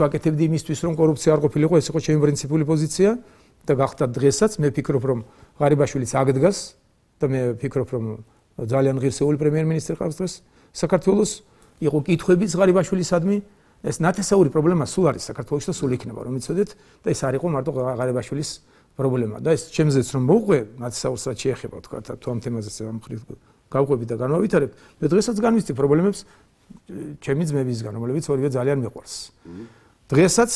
ვაკეთებდი იმისთვის, რომ კორუფცია არ ყოფილიყო, ეს იყო ჩემი პრინციპული პოზიცია და გახდა დღესაც მე ფიქრობ, რომ ღარიბაშვილიც აღდგას და მე ფიქრობ, რომ ძალიან ღირსეული პრემიერ-მინისტრი ყავს დღეს საქართველოს, იყო კითხვებიც ღარიბაშვილისადმი, ეს ნათესაური პრობლემა სულ არის საქართველოში და სულ იქნება, რომ იცოდეთ და ეს არ იყო მარტო ღარიბაშვილის პრობლემა და ეს ჩემზეც რომ მოვყვე ნათესაურს რაც შეეხება თქვა თუ ამ თემაზეც ამ ხრივ გავყვებით და განვავითარებ, მე დღესაც განვიცდი პრობლემებს ჩემი ძმებისგან, რომლებიც ორივე ძალიან მიყვარს. დღესაც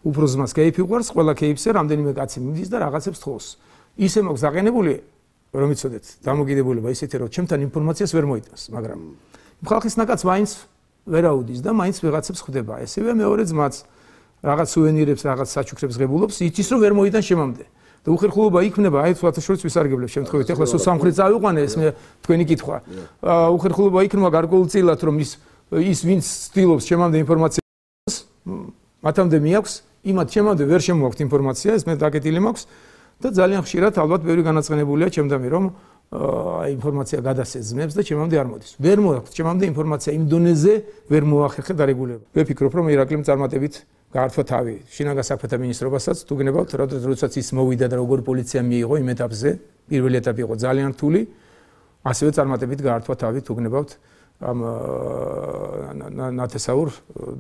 უფრო ზმას კეიფი უყვარს, ყველა კეიფზე რამდენიმე კაცი მიდის და რაღაცებს თხოვს. ისე მაქვს დაყენებული, რომ იცოდეთ, დამოკიდებულება ისეთი, რომ ჩემთან ინფორმაციას ვერ მოიტანს, მაგრამ ხალხის ნაკაც მაინც ვერ აუდის და მაინც ვიღაცებს ხვდება. ესევე მეორე ძმაც რაღაც სუვენირებს, რაღაც საჩუქრებს ღებულობს, იცის რომ ვერ მოიტანს შემამდე. და უხერხულობა იქნება, აი თქვათ შორიც ვისარგებლებ შემთხვევით, ეხლა სულ სამხრეთ წავიყვანე ეს მე თქვენი კითხვა. უხერხულობა იქნება გარკვეულწილად რომ ის ვინც ცდილობს შემამდე ინფორმაციას, მათამდე მიაქვს, იმათ შემამდე ვერ შემოაქვთ ინფორმაცია, ეს მე დაკეტილი მაქვს და ძალიან ხშირად ალბათ ბევრი განაცხენებულია ჩემდამი რომ ინფორმაცია გადასცეს ძმებს და ჩემამდე არ მოდის. ვერ მოაქვთ ჩემამდე ინფორმაცია იმ დონეზე ვერ მოახერხე დარეგულება. მე ფიქრობ რომ ირაკლიმ წარმატებით გაართვა თავი შინაგან საქმეთა მინისტრობასაც თუ გნებავთ, როდესაც ის მოვიდა და როგორ პოლიცია მიიღო იმ ეტაპზე, პირველი ეტაპი იყო ძალიან რთული, ასევე წარმატებით გაართვა თავი თუ გნებავთ ამ ნათესაურ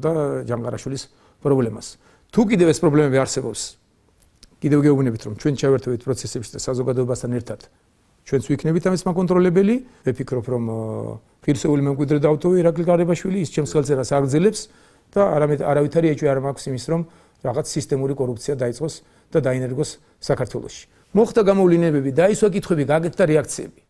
და ჯანგარაშვილის პრობლემას. თუ კიდევ ეს პრობლემები არსებობს, კიდევ გეუბნებით რომ ჩვენ ჩავერთვით პროცესებში და საზოგადოებასთან ერთად ჩვენც ვიქნებით ამის მაკონტროლებელი, მე ფიქრობ რომ ღირსეული მემკვიდრე დავტოვე ირაკლი გარიბაშვილი, ის ჩემს ხელწერას აგრძელებს და არავითარი ეჭვი არ მაქვს იმის რომ რაღაც სისტემური კორუფცია დაიწყოს და დაინერგოს საქართველოში. მოხდა გამოვლინებები, დაისვა კითხვები, გაკეთდა რეაქციები.